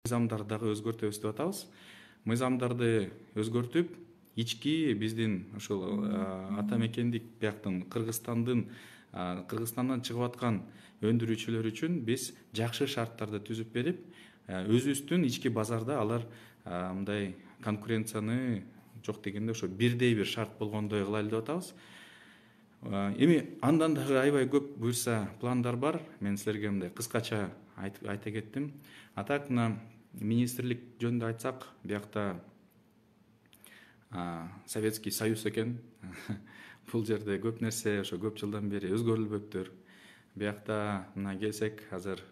мыйзамдарды дагы өзгөртөбүз деп атабыз. Мыйзамдарды өзгөртүп, ички биздин ушул ата мекендик бияктын Кыргызстандан чыгып аткан өндүрүүчүлөр үчүн биз жакшы шарттарды түзүп берип, өзүбүздүн ички базарда алар мындай конкуренцияны жок дегенде ошо бирдей бир шарт болгондой кылайлы деп атабыз. Эми андан дагы аябай көп буюрса пландар бар. Мен силерге мындай кыскача айта кеттим. А так мына министрлик жөнүндө айтсак, биякта Советский Союз экен. Бул жерде көп нерсе ошо көп жылдан бери өзгөрүлбөптүр. Биякта мына келсек, азыр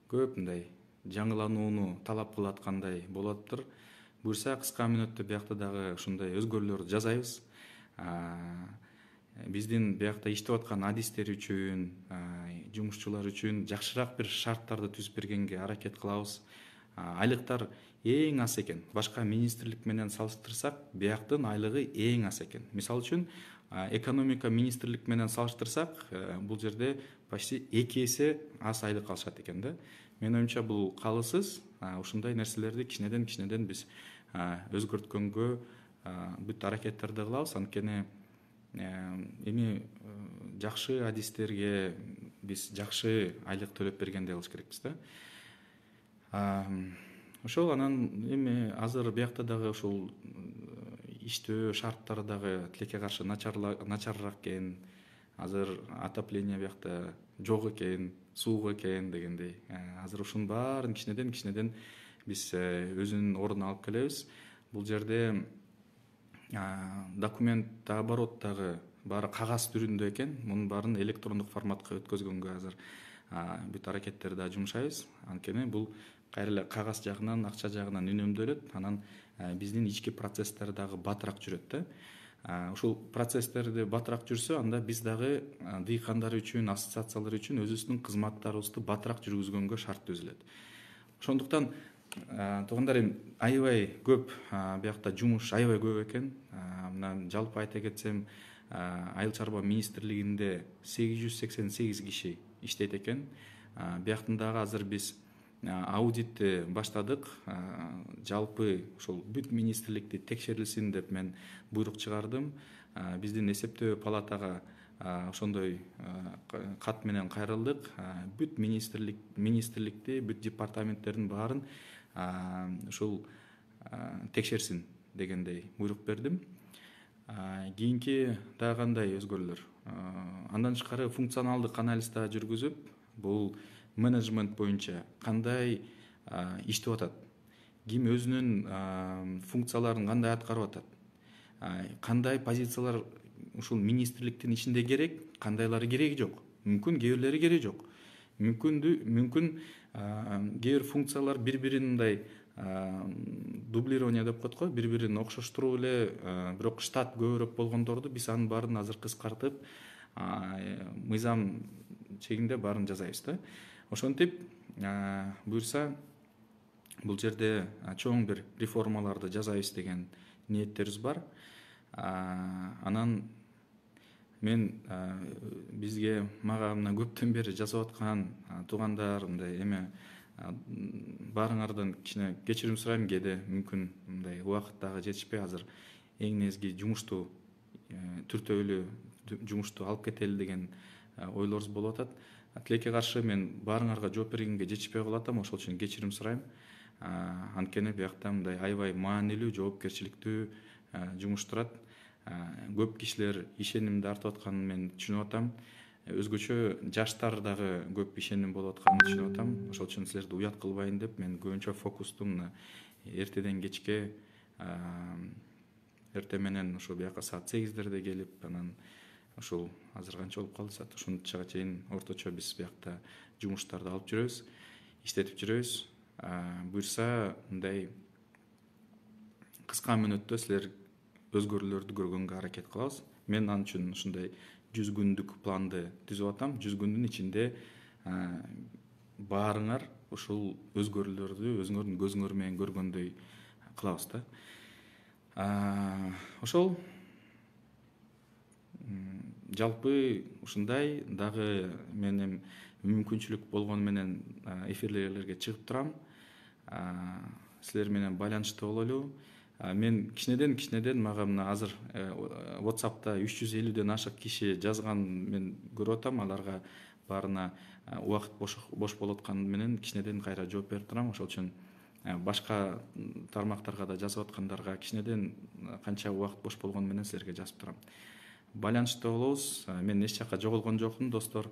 көп мындай жаңыланууну талап кылып аткандай болуптур. Буюрса кыска мүнөттө биякта дагы ушундай өзгөрүүлөрдү жасайбыз. Биздин биякта иштеп аткан адистер үчүн, жумушчулар үчүн жакшыраак бир шарттарды түзүп бергенге аракет кылабыз. Айлыктар эң аз экен. Башка министрлик менен салыштырсак, бияктын айлыгы эң аз экен. Мисалы үчүн, экономика министрлик менен салыштырсак, бул жерде почти 2 эсе аз айлык алышат экен да. Менин оюмча бул калысыз. Ушундай нерселерди кичинеден биз өзгөрткөнгө бүт аракеттерди кылабыз. Анткени эми жакшы адистерге биз жакшы айлык төлөп бергендей кылыш керекпиз да. Ошол анан эми азыр биякта дагы ушул иштөө шарттары дагы тилекке каршы начарыраак экен. Азыр отопление биякта жок экен, суук экен дегендей. Азыр ушунун баарын кичинеден биз өзүнүн ордуна алып келебиз. Бул жерде документ оборот дагы баары кагаз түрүндө экен. Мунун баарын электрондук форматка өткөзгөнгө азыр бүт аракеттерди да жумшайбыз. Анткени бул кайра эле кагаз жагынан, акча жагынан үнөмдөлөт. Анан биздин ички процесстер дагы батыраак жүрөт да. Ушул процесстерди батыраак жүрсө, анда биз дагы дыйкандар үчүн, ассоциациялар үчүн өзүбүздүн кызматтарыбызды батыраак жүргүзгөнгө шарт түзүлөт. Ошондуктан туугандар, эми аябай көп биякта жумуш аябай көп экен. Мына жалпы айта кетсем, Айыл чарба министрлигинде 888 киши иштейт экен. Бияктын дагы азыр биз аудитти баштадык. Жалпы ошол бүт министрликти текшерилсин деп мен буйрук чыгардым. Биздин эсептөө палатага ошондой кат менен кайрылдык. Бүт министрликти, бүт департаменттердин баарын ушул текшерсин дегендей буйрук бердим. Кийинки дагы кандай өзгөрүүлөр? Андан тышкары функционалдык анализ да жүргүзүп, бул менеджмент боюнча кандай иштеп атат, ким өзүнүн функцияларын кандай аткарып атат, кандай позициялар ушул министрликтин ичинде керек, кандайлары кереги жок, мүмкүн кээ бирлери кереги жок, мүмкүн кээ бир функциялар бири-бирин мындай дублирование деп коет го, бири-бирин окшоштуруп эле, бирок штат көбүрөөк болгондорду биз анын баарын азыр кыскартып, мыйзам чегинде баарын жасайбыз да. Ошентип, буюрса бул жерде чоң бир реформаларды жасайбыз деген ниеттерибиз бар. Анан мен мага мына көптөн бери жазып аткан туугандар, мындай эме баарыңардан кичине кечирим сурайм, кээде мүмкүн мындай убакыт дагы жетишпей, азыр эң негизги жумушту түртөөлүү жумушту алып кетели деген ойлорубуз болуп атат. Тилекке каршы мен баарыңарга жооп бергенге жетишпей калатам, ошол үчүн кечирим сурайм. Анткени биякта мындай аябай маанилүү, жоопкерчиликтүү жумуш турат. Көп кишилер ишенимди артып атканын мен түшүнүп атам. Өзгөчө жаштар дагы көп ишеним болуп атканын түшүнүп атам. Ошол үчүн силерди уят кылбайын деп мен көбүнчө фокусту мына эртеден кечке, эртең менен ошо бияка саат 8-дерде келип, анан ушул азыр канча болуп калды саат, ушунчага чейин орточо биз биякта жумуштарды алып жүрөбүз, иштетип жүрөбүз. Буюрса мындай кыска мүнөттө силер өзгөрүүлөрдү көргөнгө аракет кылабыз. Мен ал үчүн ушундай 100 күндүк планды түзүп атам. 100 күндүн ичинде баарыңар ушул өзгөрүүлөрдү өзүңөрдүн көзүңөр менен көргөндөй кылабыз да. Ошол жалпы ушундай. Дагы мен мүмкүнчүлүк болгону менен эфирлерге чыгып турам. Силер менен байланышта бололу. Мен кичинеден мага мына азыр WhatsApp'та 350ден ашык киши жазган мен көрүп атам. Аларга баарына убакыт бош болуп атканы менен кичинеден кайра жооп берип турам. Ошол үчүн башка тармактарга да жазып аткандарга кичинеден канча убакыт бош болгону менен силерге жазып турам. Байланышта болобуз. Мен эч жакка жоголгон жокмун, достор.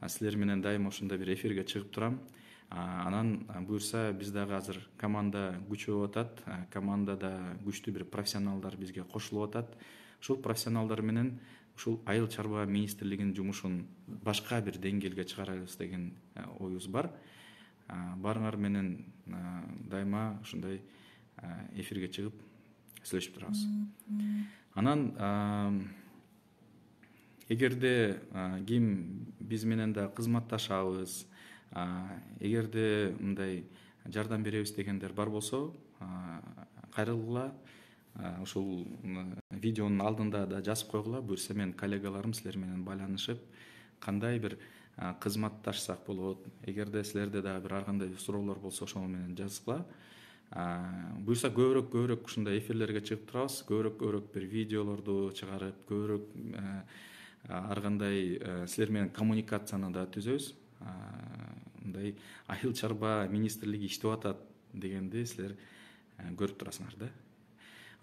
Силер менен дайыма ушундай бир эфирге чыгып турам. Анан буюрса биз дагы азыр команда күчөп атат. Командада күчтүү бир профессионалдар бизге кошулуп атат. Ушул профессионалдар менен ушул Айыл чарба министрлигинин жумушун башка бир деңгээлге чыгарабыз деген оюбуз бар. Баарыңар менен дайыма ушундай эфирге чыгып сүйлөшүп турабыз. Анан эгерде ким биз менен да кызматташабыз, эгерде мындай жардам беребиз дегендер бар болсо, кайрылгыла. Ушул видеонун алдында да жазып койгула. Буюрса мен коллегаларым силер менен байланышып, кандай бир кызматташсак болот. Эгерде силерде дагы бир ар кандай суроолор болсо, ошол менен жазгыла. Буюрса көбүрөөк ушундай эфирлерге чыгып турабыз. Көбүрөөк бир видеолорду чыгарып, көбүрөөк ар кандай силер менен коммуникацияны да түзөбүз. Мындай Айыл чарба министрлиги иштеп атат дегенди силер көрүп турасыңар да.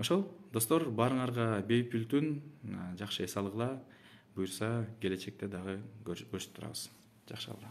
Ошол, достор, баарыңарга бейпүл түн, жакшы эс алгыла. Буюрса келечекте дагы көрүшүп турабыз. Жакшы калгыла.